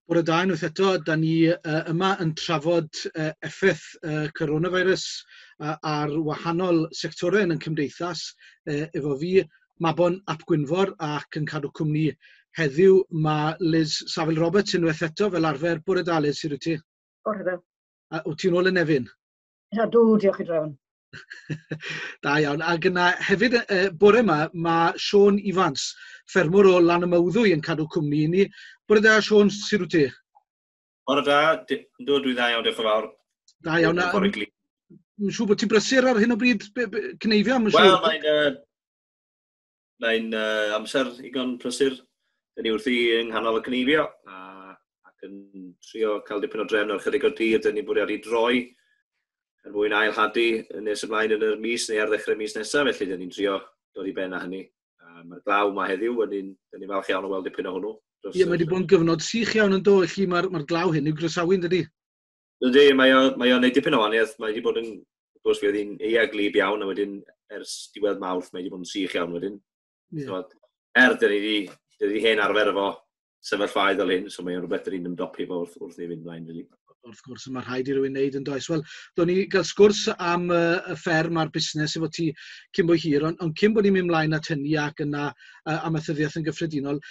Bore da unwaith eto, da ni yma yn trafod effaith coronavirus ar wahanol sectorau yn y cymdeithas efo fi, Mabon ap Gwynfor, ac yn cadw cwmni heddiw mae Liz Saville Roberts unwaith eto fel arfer. Bore da Liz, sut wyt ti? Bore da. A wyt ti'n ôl yn Nefyn? Ydw, diolch i drefn. Da iawn. Ac yna hefyd bore yma, mae Siôn Ifans, ffermwr o Lanymawddwy yn cadw cwmni i ni. Bore da, Siôn, sut wyt ti? Bore da, dwi dda iawn, diolch yn fawr. Da iawn. Bore gli. Mae'n siŵr bod ti'n brysur ar hyn o bryd, cneifio, mae'n siŵr. Wel, mae'n amser igon prysur. Dyn ni wrthi yng nghanol y cneifio ac yn trio cael dipyn o drefn ar chydig o dir. Dyn ni'n bwriadu droi er mwyn ail-hadu nes ymlaen yn yr mis neu ar ddechrau mis nesaf, felly dyn ni'n trio dod i ben â hynny. Mae'r glaw yma heddiw, dyn ni'n falch iawn o weld dipyn o hwnnw. Ie, mae wedi bod yn gyfnod sych iawn yn do, felly mae'r glaw hyn i'w groesawu, yn dydi? Ydy, mae o'n gwneud dipyn o wahaniaeth. Mae wedi bod yn, wrth gwrs, fe oedd hi'n eia glib iawn, a wedyn ers diwedd Mawrth mae wedi bod yn sych iawn wedyn. Yeah. So, dyn ni wedi hen arfer efo sefyllfaoedd fel hyn, so mae'n rhywbeth dyn ni'n ymdopi efo wrth ni fynd mlaen, really. Wrth gwrs, mae rhaid i rywun wneud yn does. Wel, do'n ni gael sgwrs am y fferm a'r busnes efo ti cyn bo hir, ond cyn bod ni'n mynd mlaen at hynny ac yna amaethyddiaeth yn gyffredinol,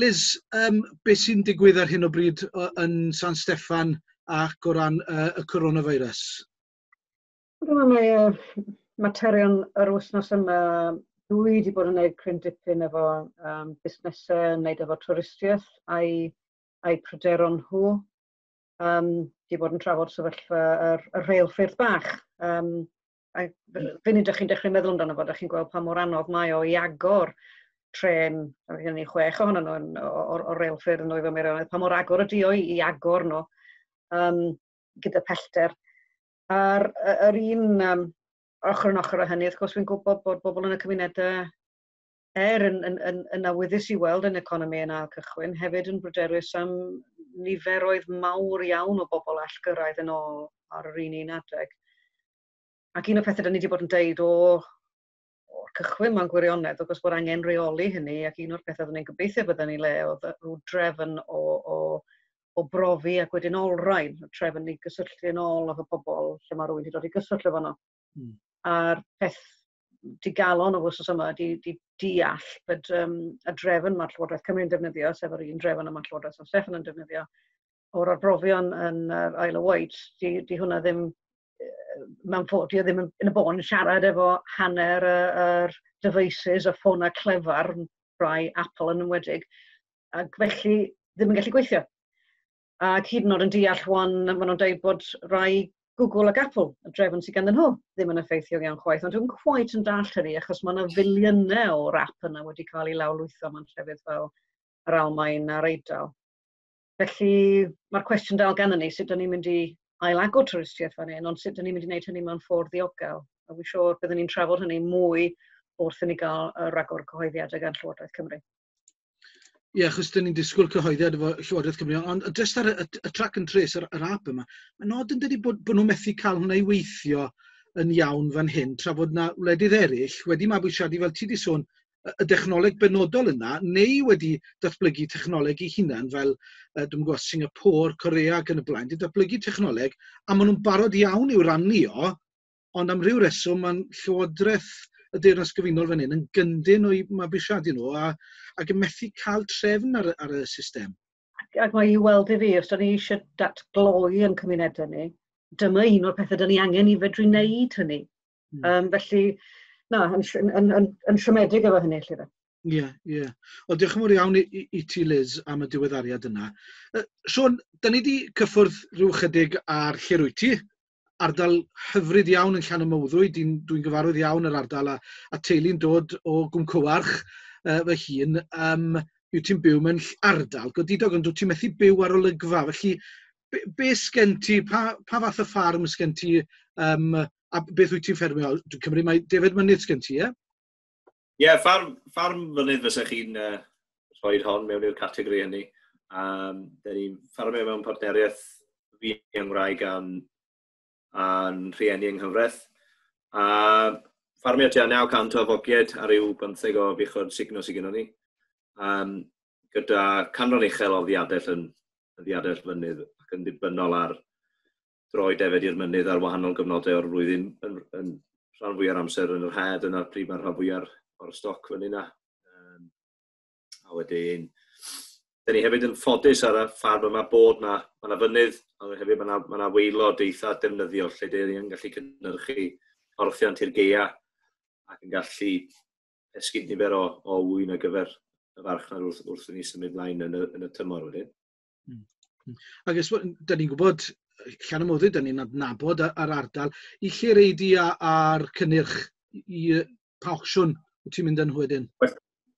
Liz, beth sy'n digwydd ar hyn o bryd yn San Steffan ac o ran y coronavirus? Dwi'n meddwl mae materion yr wythnos yma, dwi wedi bod yn gwneud cryn dipyn efo busnesau, yn gwneud efo twristiaeth a'i pryderon nhw. Di bod yn trafod sefyllfa y rheilffyrdd bach. A funud ydych chi'n dechrau meddwl amdano fo, ydych chi'n gweld pa mor anodd mae o i agor trên, a gen ni 6 ohonyn nhw o'r reilffyrdd yn Nwyfor Meirionnydd, pa mor agor ydi o i agor nhw gyda pellter. A'r yr un ochr yn ochr â hynny, wrth gwrs, fi'n gwybod bod bobl yn y cymunedau yn awyddus i weld yn economi yn ail cychwyn, hefyd yn bryderus am niferoedd mawr iawn o bobl all gyrraedd yn ôl ar yr un adeg. Ac un o'r pethau da ni wedi bod yn deud o'r cychwyn mewn gwirionedd, wrth gwrs bod angen rheoli hynny, ac un o'r pethau oedden ni'n gobeithio bydden ni le oedd rhyw drefn o brofi ac wedyn olrhain, trefn i gysylltu yn ôl efo pobl lle mae rhywun wedi dod i gyswllt efo nhw. A'r peth digalon o wythnos yma di deall bod y drefn mae Llywodraeth Cymru'n defnyddio, sef yr un drefn y mae Llywodraeth San Steffan yn defnyddio, o'r arbrofion yn yr Isle of Wight, di hwnna ddim, mewn ffordd, di o ddim yn y bôn yn siarad efo hanner yr devices, y ffonau clefar, rai Apple yn enwedig, ac felly ddim yn gallu gweithio. Ac hyd yn oed yn deall wan, maen nhw'n dweud bod rai Google ac Apple, y drefn sydd ganddyn nhw, ddim yn effeithiol iawn chwaith, ond dwi'n quite yn dallt hynny, achos mae yna filiynau o'r app yna wedi cael ei lawrlwytho mewn llefydd fel yr Almaen a'r Eidal. Felly mae'r cwestiwn dal ganddyn ni, sut dyn ni'n mynd i ailagor twristiaeth fan hyn, ond sut dyn ni'n mynd i wneud hynny mewn ffordd ddiogel. A fi'n siŵr byddwn ni'n trafod hynny mwy wrth i ni gael y ragor cyhoeddiadau gan Llywodraeth Cymru. Ie, achos dyn ni'n disgwyl cyhoeddiad efo Llywodraeth Cymru, ond jyst ar y track and trace, yr app yma, mae'n nod yn dydi bod nhw'n methu cael hwnna i weithio yn iawn fan hyn, tra bod na wledydd eraill wedi mabwysiadu, fel ti di sôn, y dechnoleg benodol yna, neu wedi datblygu technoleg eu hunan, fel, dwi'm yn gwybod, Singapore, Korea ac yn y blaen, wedi datblygu technoleg, a maen nhw'n barod iawn i'w rannu o, ond am ryw reswm, mae'n Llywodraeth y Deyrnas Gyfunol fan hyn yn gyndyn o'i mabwysiadu nhw ac yn methu cael trefn ar y system. Ac mae i weld i fi, os da ni eisiau datgloi yn cymunedau ni, dyma un o'r pethau da ni angen i fedru wneud hynny. Felly, na, yn siomedig efo hynny, lle fe. Ie, ie. Wel, diolch yn fawr iawn i ti, Liz, am y diweddariad yna. Siôn, da ni wedi cyffwrdd rhyw chydig ar lle rwyt ti, ardal hyfryd iawn yn Llanymawddwy, dwi'n gyfarwydd iawn yr ardal a teulu'n dod o Gwmcywarch fy hun. Wyt ti'n byw mewn ardal godidog, ond wyt ti'n methu byw ar olygfa. Felly, be sgen ti, pa fath o ffarm sgen ti, a beth wyt ti'n ffermio? Dwi'n cymryd mai defaid mynydd sgen ti, ie? Ie, ffarm fynydd fysa chi'n rhoi hon mewn i'r categori hynny. Dyn ni'n ffarmio mewn partneriaeth fi yng Nghymraeg a'n rhieni yng Nghyfraith. A ffarmio tua 900 o fogied a ryw 15 o fuchod sugno sydd gennym ni. Gyda canran uchel o ddiadell yn y ddiadell fynydd ac yn ddibynnol ar droi defed i'r mynydd ar wahanol gyfnodau o'r flwyddyn yn rhan fwyaf amser yn yr hed yna pryd mae'r rhan fwyaf o'r stoc fyny yna. A wedyn, dyn ni hefyd yn ffodus ar y ffarm yma bod na, mae yna fynydd, ond hefyd mae yna waelod eitha defnyddiol lle dyn ni'n gallu cynhyrchu porthiant i'r gaea ac yn gallu esgyd nifer o ŵyn ar gyfer y farchnad wrth i ni symud mlaen yn y tymor wedyn. Ac ys, da ni'n gwybod, Llanymoddydd, da ni'n adnabod ar ardal, i lle reidi a'r cynnyrch i pa opsiwn wyt ti'n mynd yn wedyn?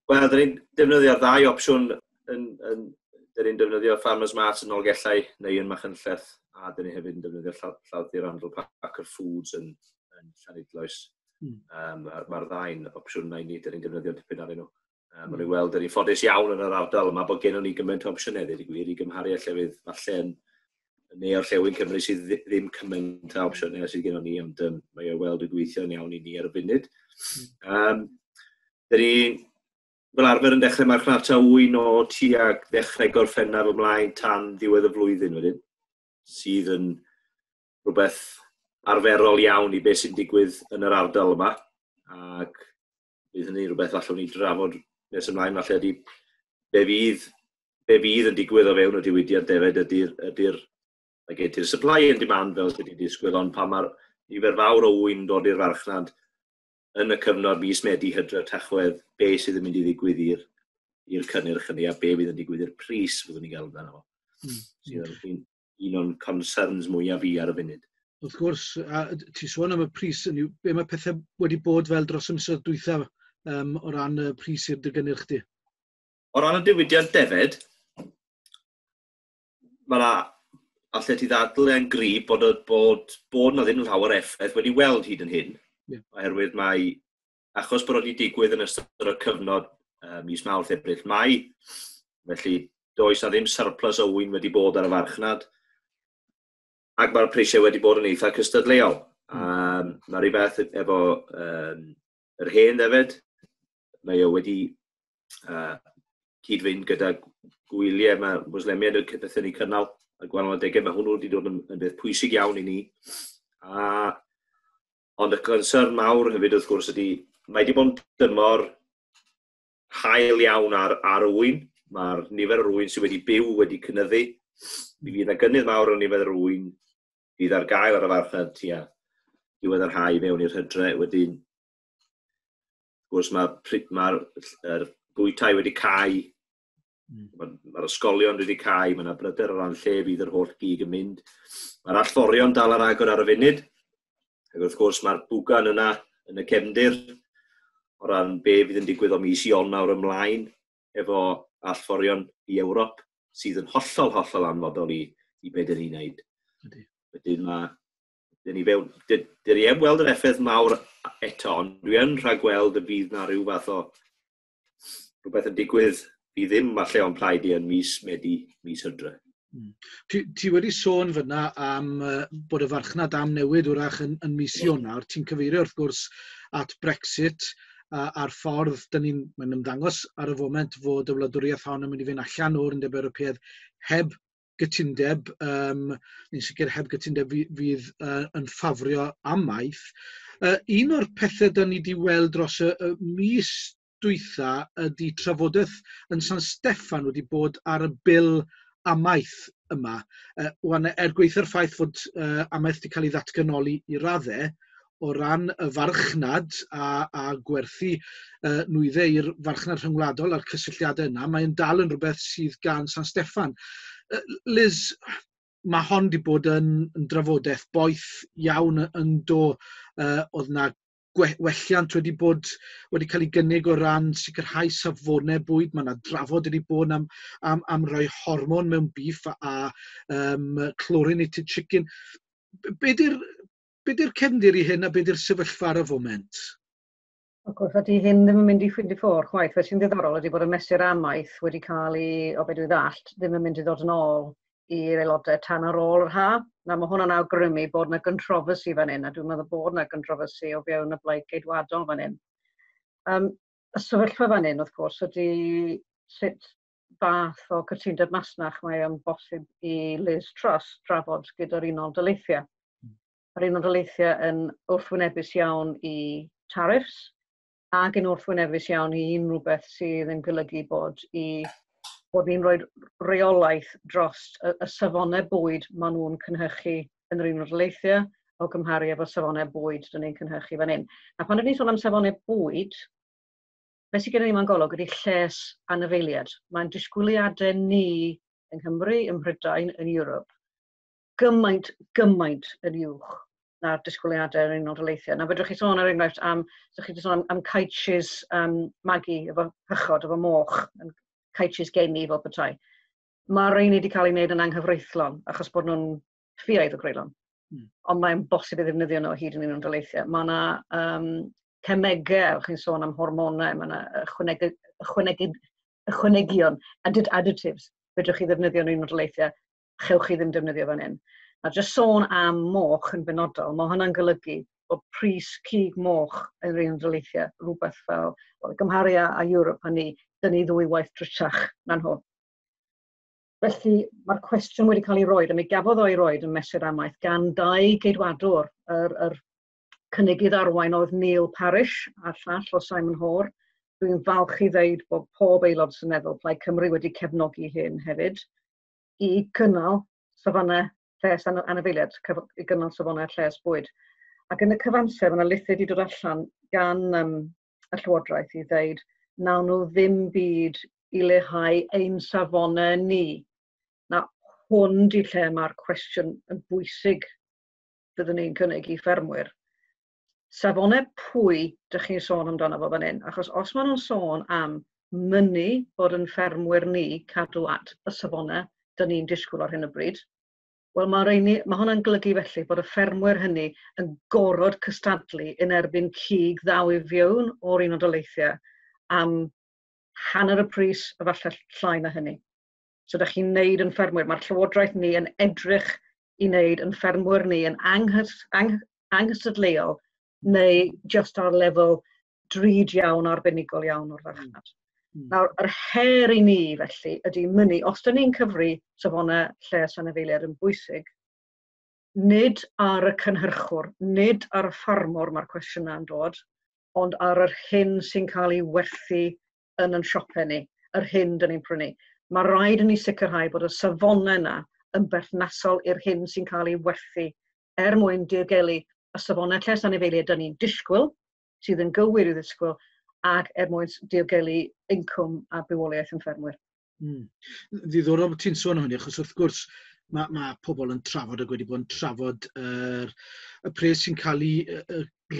Wel, da ni'n defnyddio'r ddau opsiwn. Da ni'n defnyddio Farmers Mart yn Nolgellau neu yn Machynlleth, a da ni hefyd yn defnyddio Lladdir Randall Parker Foods yn Llanidloes. Mae'r ddau'n opsiwn na i ni, da ni'n defnyddio dipyn arnyn nhw. Maen nhw'n weld, da ni'n ffodus iawn yn yr ardal yma bod gennym ni gymaint o opsiynau, dweud y gwir, i gymharu â llefydd falle yn neu orllewin Cymru sydd ddim cymaint o opsiynau sydd gennym ni, ond mae o weld yn gweithio'n iawn i ni ar y funud. Da ni fel arfer yn dechrau marchnata ŵyn o tuag ddechrau Gorffennaf ymlaen tan ddiwedd y flwyddyn wedyn, sydd yn rhywbeth arferol iawn i beth sy'n digwydd yn yr ardal yma, ac bydd hynny rhywbeth allwn ni drafod nes ymlaen, falle ydy be fydd yn digwydd o fewn y diwydiant defed ydy'r mae gen ti'r supply and demand fel sydd wedi disgwyl, ond pan mae'r nifer fawr o ŵyn dod i'r farchnad yn y cyfnod mis Medi, Hydref, Tachwedd, be sydd yn mynd i ddigwydd i'r cynnyrch hynny a be fydd yn digwydd i'r pris fyddwn ni'n gael amdano fo. Sydd yn un o'n concerns mwyaf fi ar y funud. Wrth gwrs, a ti sôn am y pris, be mae pethau wedi bod fel dros y misoedd dwytha o ran y pris i'r dy gynnyrch di? O ran y diwydiant defed, mae yna, allet ti ddadl yn gryf bod na ddim llawer effaith wedi weld hyd yn hyn. Oherwydd mae, achos bod wedi digwydd yn ystod y cyfnod mis Mawrth, Ebrill, Mai, felly does na ddim surplus o ŵyn wedi bod ar y farchnad, ac mae'r prisiau wedi bod yn eitha cystadleuol. Mae rhyw beth efo yr hen ddefed, mae o wedi cyd-fynd gyda gwyliau, mae Mwslemiaid yn bethau ni cynnal a gwahanol adegau, mae hwnnw wedi dod yn beth pwysig iawn i ni. Ond y concern mawr hefyd wrth gwrs ydy, mae wedi bod yn dymor hael iawn ar y ŵyn. Mae'r nifer o'r ŵyn sydd wedi byw wedi cynyddu. Mi fydd yna gynnydd mawr yn nifer yr ŵyn fydd ar gael ar y farchnad tua diwedd yr hau mewn i'r hydre. Wedyn, wrth gwrs, mae'r ma yr bwytai wedi cau, mae'r ysgolion wedi cau, mae yna bryder o ran lle fydd yr holl gig yn mynd. Mae'r allforion dal ar agor ar y funud. Ac wrth gwrs mae'r bwgan yna yn y cefndir o ran be fydd yn digwydd o mis Ionawr ymlaen efo allforion i Ewrop, sydd yn hollol, hollol anfodol i be dyn ni'n neud. Wedyn mae, dyn ni fewn, dyn ni heb weld yr effaith mawr eto, ond dwi yn rhagweld y bydd na rhyw fath o rhywbeth yn digwydd fi ddim falle o'n plaid i yn mis Medi, mis Hydre. Ti wedi sôn fyna am bod y farchnad am newid wrach yn mis Ionawr. Ti'n cyfeirio wrth gwrs at Brexit a'r ffordd dyn ni'n, mae'n ymddangos ar y foment fod y wladwriaeth hon yn mynd i fynd allan o'r Undeb Ewropeaidd heb gytundeb, ni'n sicr heb gytundeb fydd yn ffafrio amaeth. Un o'r pethau dyn ni wedi weld dros y mis dwytha ydy trafodaeth yn San Steffan wedi bod ar y bil amaeth yma. Wan, er gweitha'r ffaith fod amaeth wedi cael ei ddatganoli i raddau, o ran y farchnad a gwerthu nwyddau i'r farchnad rhyngwladol a'r cysylltiadau yna, mae'n dal yn rhywbeth sydd gan San Steffan. Liz, mae hon wedi bod yn drafodaeth boeth iawn yn do. Oedd na welliant wedi cael ei gynnig o ran sicrhau safonau bwyd. Mae yna drafod wedi bod am roi hormon mewn beef a chlorinated chicken. Be di'r cefndir i hyn a be di'r sefyllfa ar y foment? Wrth gwrs, ydy hyn ddim yn mynd i ffeindio ffwrdd chwaith. Fe sy'n ddiddorol ydy bod y mesur amaeth wedi cael ei, o be dwi ddallt, ddim yn mynd i ddod yn ôl i'r aelodau tan ar ôl yr ha. Na, mae hwnna'n awgrymu bod yna controversy fan hyn, a dwi'n meddwl bod yna controversy o fewn y Blaid Geidwadol fan hyn. Y sefyllfa fan hyn, wrth gwrs, ydy sut fath o cytundeb masnach mae o'n bosib i Liz Truss drafod gyda'r Unol Daleithiau. Mae'r Unol Daleithiau yn wrthwynebus iawn i tariffs ac yn wrthwynebus iawn i unrhyw beth sydd yn golygu bod ni'n rhoi reolaeth dros y safonau bwyd maen nhw'n cynhyrchu yn yr Unol Daleithiau o gymharu efo safonau bwyd dyn ni'n cynhyrchu fan hyn. A pan ydyn ni'n sôn am safonau bwyd, beth sydd gennym ni mewn golwg ydy lles anifeiliaid. Mae'n disgwyliadau ni yng Nghymru, ym Mhrydain, yn Ewrop, gymaint, gymaint yn uwch na'r disgwyliadau yn Unol Daleithiau. Na fedrwch chi sôn er enghraifft am, so chi wedi sôn am caetsys magu efo hychod, efo moch, yn caetsys geni fel petai. Mae rheini wedi cael ei wneud yn anghyfreithlon achos bod nhw'n ffiaidd o greulon. Ond mae'n bosib i ddefnyddio nhw hyd yn Unol Daleithiau. Mae yna cemegau, chi'n sôn am hormonau, mae yna ychwanegion, additives, fedrwch chi ddefnyddio yn Unol Daleithiau, chewch chi ddim defnyddio fan hyn. A jyst sôn am moch yn benodol, mae hwnna'n golygu bod pris cig moch yn yr Unol Daleithiau rhywbeth fel, well, gymharu â Ewrop a ni, dyn ni ddwy waith drytach na nhw. Felly mae'r cwestiwn wedi cael ei roed, a mi gafodd o'i roed yn mesur amaeth gan dau geidwadwr, yr cynigydd arwain oedd Neil Parish a'r llall o Simon Hoare. Dwi'n falch i ddeud bod pob aelod seneddol Plaid Cymru wedi cefnogi hyn hefyd i gynnal safonau lles anifeiliaid, i gynnal safonau lles bwyd. Ac yn y cyfamser, mae yna lythyr wedi dod allan gan y Llywodraeth i ddeud nawn nhw ddim byd i leihau ein safonau ni. Na, hwn di lle mae'r cwestiwn yn bwysig fyddwn ni'n cynnig i ffermwyr. Safonau pwy dych chi'n sôn amdano fo fan hyn? Achos os maen nhw'n sôn am mynnu bod yn ffermwyr ni cadw at y safonau dyn ni'n disgwyl ar hyn o bryd, wel mae hwnna'n golygu felly bod y ffermwyr hynny yn gorfod cystadlu yn erbyn cig ddaw i fewn o'r Unol Daleithiau am hanner y pris a falle llai na hynny. So dych chi'n neud yn ffermwyr. Mae'r Llywodraeth ni yn edrych i wneud yn ffermwyr ni yn anghystadleuol neu just ar lefel drud iawn, arbenigol iawn o'r farchnad. Nawr, yr her i ni felly ydy mynnu, os dyn ni'n cyfri safonau lles anifeiliaid yn bwysig, nid ar y cynhyrchwr, nid ar y ffarmwr mae'r cwestiynau yn dod, ond ar yr hyn sy'n cael ei werthu yn siopau ni, yr hyn dyn ni'n prynu. Mae rhaid i ni sicrhau bod y safonau yna yn berthnasol i'r hyn sy'n cael ei werthu er mwyn diogelu y safonau lles anifeiliaid dyn ni'n disgwyl, sydd yn gywir i ddisgwyl, ac er mwyn diogelu incwm a bywoliaeth yn ffermwyr. Ddiddorol bod ti'n sôn am hynny, achos wrth gwrs mae pobl yn trafod ac wedi bod yn trafod y pres sy'n cael ei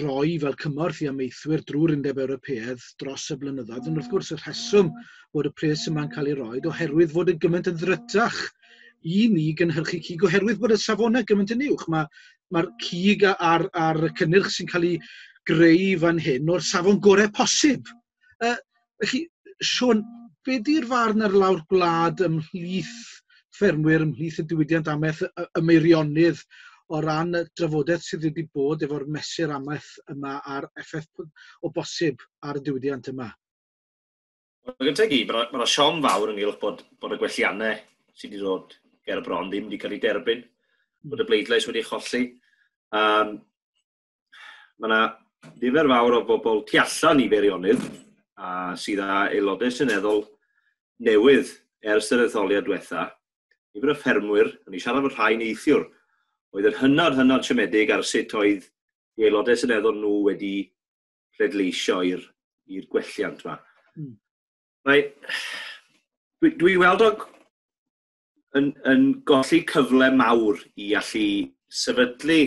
roi fel cymorth i amaethwyr drwy'r Undeb Ewropeaidd dros y blynyddoedd. Ond wrth gwrs y rheswm bod y pres yma'n cael ei roi oherwydd fod y gymaint yn ddrytach i ni gynhyrchu cig, oherwydd bod y safonau gymaint yn uwch. Mae'r cig a'r cynnyrch sy'n cael ei greu fan hyn o'r safon gorau posib. Felly, Siôn, be di'r farn ar lawr gwlad ymhlith ffermwyr, ymhlith y diwydiant amaeth y Meirionnydd o ran y drafodaeth sydd wedi bod efo'r mesur amaeth yma a'r effaith o bosib ar y diwydiant yma? Wel, gyntaf i gyd, mae yna siom fawr ynghylch bod y gwelliannau sydd wedi dod ger y bron ddim wedi cael ei derbyn, bod y bleidlais wedi cholli. Mae yna nifer fawr o bobl tu allan i Feirionnydd a sydd â aelodau seneddol newydd ers yr etholiad diwetha. Nifer o ffermwyr, o'n i siarad efo rhai neithiwr, oedd yn hynod, hynod siomedig ar sut oedd i aelodau seneddol nhw wedi pleidleisio i'r gwelliant yma. Dwi weld o yn golli cyfle mawr i allu sefydlu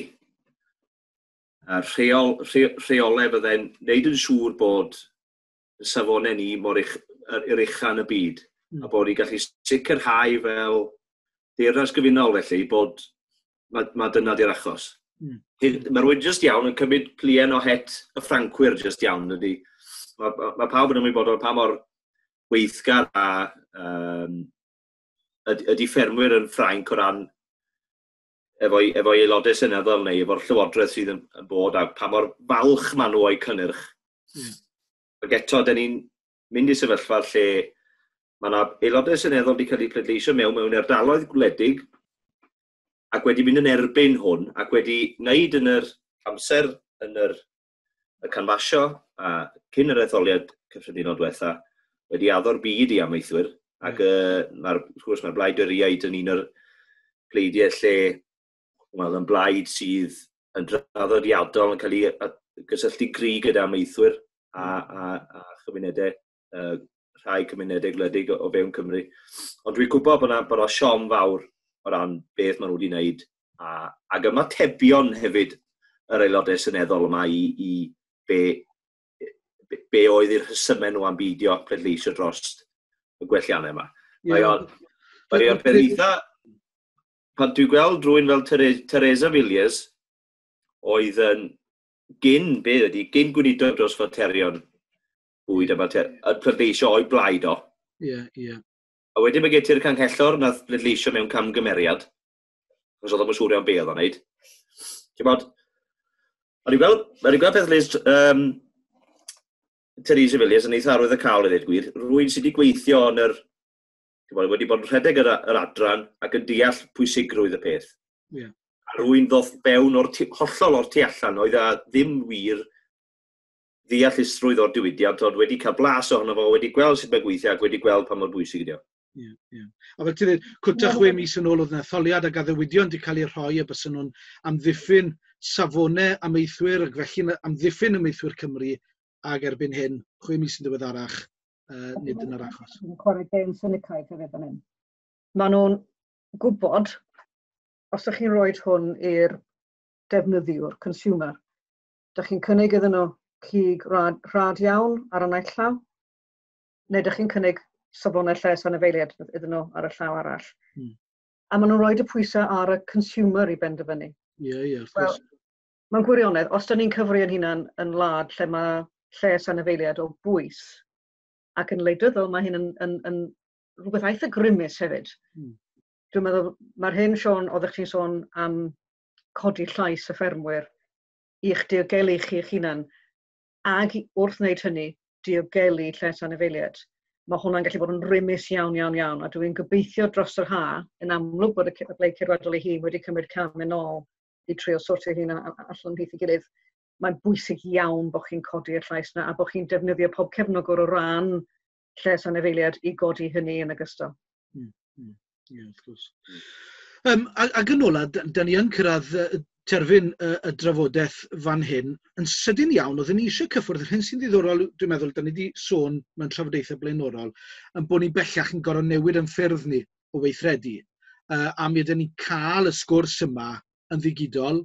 rheolau byddai'n wneud yn siŵr bod y safonau ni mor yr ucha yn y byd, a bod ni'n gallu sicrhau fel Deyrnas Gyfunol felly bod ma dyna di'r achos. Mae rhywun jyst iawn yn cymryd plien o het y Ffrancwyr jyst iawn ydy. Mae pawb yn ymwybodol pa mor weithgar a ydy ffermwyr yn Ffrainc o ran efo'i aelodau seneddol neu efo'r llywodraeth sydd yn bod a pa mor falch maen nhw o'i cynnyrch. Ac eto, dyn ni'n mynd i sefyllfa lle Mae yna aelodau seneddol wedi cael eu pleidleisio mewn ardaloedd gwledig ac wedi mynd yn erbyn hwn ac wedi wneud yn yr amser yn y canfasio a cyn yr etholiad cyffredinol diwetha wedi addo'r byd i amaethwyr ac wrth gwrs mae'r Blaid Dorïaid yn un o'r pleidiau lle, wel, yn blaid sydd yn draddodiadol yn cael ei gysylltu gry gyda amaethwyr a chymunedau, rhai cymunedau gwledig o fewn Cymru. Ond dwi'n gwybod bod 'na siom fawr o ran beth maen nhw wedi wneud ac ymatebion hefyd yr aelodau seneddol yma i be oedd i'r rhesymau nhw am beidio pleidleisio dros y gwelliannau yma. Mae o'n peth eitha. Pan dwi'n gweld rhywun fel Theresa Villiers, oedd yn gyn, be ydy, gyn gweinidog dros faterion bwyd a mater, yn pleidleisio o'i blaid o. Ie, yeah, ie. Yeah. A wedyn mae gen ti'r canghellor nath bleidleisio mewn camgymeriad, achos oedd o'n siŵr iawn be oedd o'n neud. Ti'n bod, o'n i'n gweld peth Liz, Theresa Villiers yn eitha arwyddocaol i ddweud gwir. Rwy'n sydd wedi gweithio yn yr, ti'n bod, wedi bod yn rhedeg yr adran ac yn deall pwysigrwydd y peth. A rwy'n ddoth fewn o'r tu, hollol o'r tu allan, oedd a ddim wir ddeallusrwydd o'r diwydiant, ond wedi cael blas ohono fo, wedi gweld sut mae'n gweithio ac wedi gweld pa mor bwysig ydi o. Ie. A fel ti'n dweud, cwta 6 mis yn ôl oedd yna etholiad ac addewidion wedi cael eu rhoi a bys nhw'n amddiffyn safonau amaethwyr ac felly amddiffyn amaethwyr Cymru ac erbyn hyn, 6 mis yn ddiweddarach, nid yn yr achos. Yn chwarae gêm synicaidd hefyd fan hyn. Maen nhw'n gwybod, os ydych chi'n rhoi hwn i'r defnyddiwr, consumer, ydych chi'n cynnig iddyn nhw cig rhad, rhad iawn ar y naill llaw, neu ydych chi'n cynnig safonau lles anifeiliaid iddyn nhw ar y llaw arall? A maen nhw'n rhoi y pwysau ar y consumer i benderfynu. Ie, ie, wrth gwrs. Mae'n gwirionedd, os da ni'n cyfri yn hunan yn wlad lle mae lles anifeiliaid o bwys, ac yn wleidyddol mae hyn yn rhywbeth eitha grymus hefyd. Dwi'n meddwl, mae'r hyn, Siôn, oeddech chi'n sôn am codi llais y ffermwyr i'ch diogelu chi eich hunan, ag wrth wneud hynny, diogelu lles anifeiliaid. Mae hwnna'n gallu bod yn rymus iawn, iawn, iawn, a dwi'n gobeithio dros yr ha, yn amlwg bod y Blaid Ceidwadol ei hun wedi cymryd cam yn ôl i trio sortio hun allan ymhlith ei gilydd. Mae'n bwysig iawn bod chi'n codi'r llais yna a bod chi'n defnyddio pob cefnogwr o ran lles anifeiliaid i godi hynny yn ogystal. Ie, wrth gwrs. Ac yn ola, da ni yn cyrraedd terfyn y drafodaeth fan hyn. Yn sydyn iawn, oedden ni eisiau cyffwrdd yr hyn sy'n ddiddorol, dwi'n meddwl, da ni wedi sôn mewn trafodaethau blaenorol, yn bod ni bellach yn gorfod newid yn ffyrdd ni o weithredu. A mi ydyn ni'n cael y sgwrs yma yn ddigidol,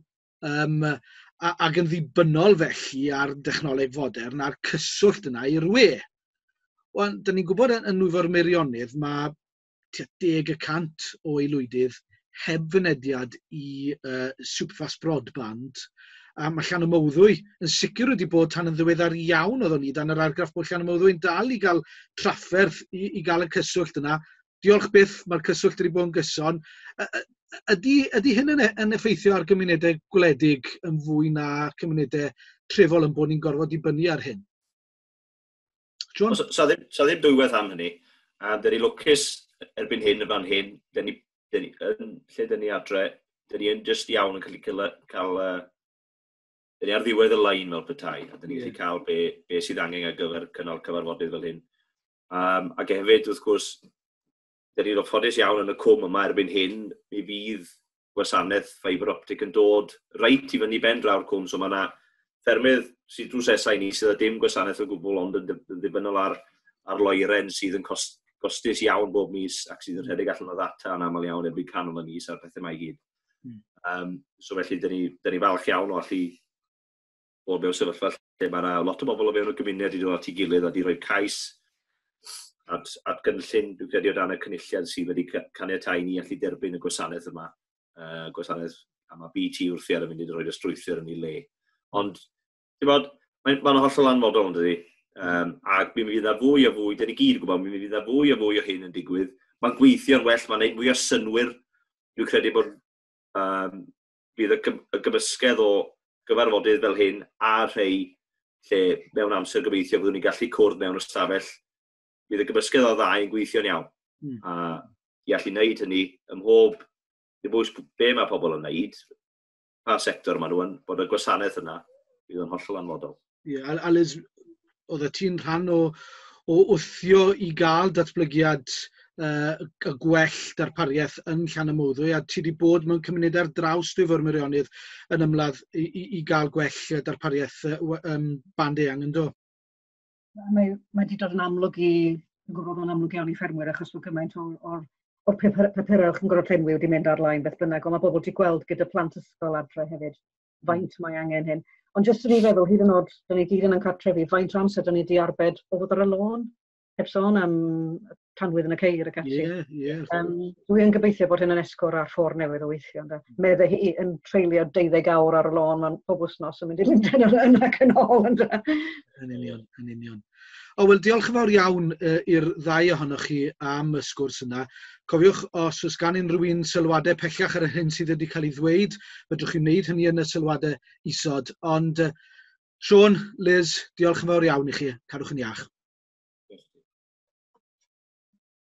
ac yn ddibynnol felly ar dechnoleg fodern a'r cyswllt yna i'r we. Wel, da ni'n gwybod yn Nwyfor Meirionnydd mae tua 10% o aelwydydd heb fynediad i superfast broadband. A mae Llanymawddwy yn sicr wedi bod tan yn ddiweddar iawn oeddwn ni dan yr argraff bod Llanymawddwy'n dal i gael trafferth i gael y cyswllt yna. Diolch byth, mae'r cyswllt wedi bod yn gyson. Ydy hyn yn effeithio ar gymunedau gwledig yn fwy na cymunedau trefol yn bod ni'n gorfod dibynnu ar hyn? John? Sa ddim dwywaith am hynny. A dyn ni lwcus erbyn hyn y fan hyn, dyn ni, yn, lle dyn ni adre, dyn ni yn just iawn yn cael, dyn ni ar ddiwedd y lein fel petai, a dyn ni'n gallu cael be sydd angen ar gyfer cynnal cyfarfodydd fel hyn. Ac hefyd, wrth gwrs, dyn ni'n ffodus iawn yn y cwm yma erbyn hyn, mi fydd gwasanaeth fibre optic yn dod reit i fyny ben draw'r cwm, so mae yna ffermydd sydd drws nesa i ni sydd â dim gwasanaeth o gwbl ond yn ddibynnol ar loeren sydd yn costus iawn bob mis ac sydd yn rhedeg allan o ddata yn aml iawn erbyn canol y mis a'r pethau mae i gyd. So felly, dyn ni falch iawn o allu bod mewn sefyllfa lle mae yna lot o bobl o fewn y gymuned wedi dod at ei gilydd a wedi rhoi cais at gynllun, dwi'n credu, o dan y cynulliad sydd wedi caniatáu ni allu derbyn y gwasanaeth yma. Gwasanaeth, a mae BT wrthi ar y munud yn rhoi y strwythur yn ei le. Ond, ti'n bod, mae'n hollol anfodol, yn dydi? Ac mi fydd yna fwy a fwy, dyn ni gyd yn gwybod, mi fydd yna fwy a fwy o hyn yn digwydd. Mae'n gweithio'n well, mae'n gwneud mwy o synwyr. Dwi'n credu bod bydd y gymysgedd o gyfarfodydd fel hyn a rhai lle mewn amser gobeithio byddwn ni'n gallu cwrdd mewn ystafell. Bydd y gymysgedd o ddau yn gweithio'n iawn. A i allu wneud hynny ym mhob, ddim bwys be mae pobl yn wneud, pa sector maen nhw yn, bod y gwasanaeth yna fydd yn hollol anfodol. Ie, yeah, a Liz, oedd ti'n rhan o wthio i gael datblygiad y gwell darpariaeth yn Llanymawddwy, a ti wedi bod mewn cymunedau ar draws Dwyfor Meirionnydd yn ymladd i gael gwell darpariaeth band eang, yn do? Mae wedi dod yn amlwg i, yn gwybod yn amlwg iawn i ffermwyr achos bod gymaint o'r papurau chi'n gorfod llenwi wedi mynd ar-lein beth bynnag, ond mae bobl wedi gweld gyda plant ysgol adre hefyd faint mae angen hyn. Ond jyst yn ei feddwl, hyd yn oed, da ni gyd yn ein cartrefi, faint o amser da ni wedi arbed o fod ar y lôn? Heb sôn am tanwydd yn y ceir ac ati. Ie, ie. Dwi yn gobeithio bod hyn yn esgor ar ffordd newydd o weithio. Ynde? Medde hi yn treulio 12 awr ar y lôn mewn pob wythnos yn mynd i Lundain yn ac yn ôl. Ynde? Yn union, yn union. O, wel, diolch yn fawr iawn i'r ddau ohonoch chi am y sgwrs yna. Cofiwch, os oes gan unrhyw un sylwadau pellach ar yr hyn sydd wedi cael ei ddweud, fedrwch chi wneud hynny yn y sylwadau isod. Ond, Siôn, Liz, diolch yn fawr iawn i chi. Cadwch yn iach.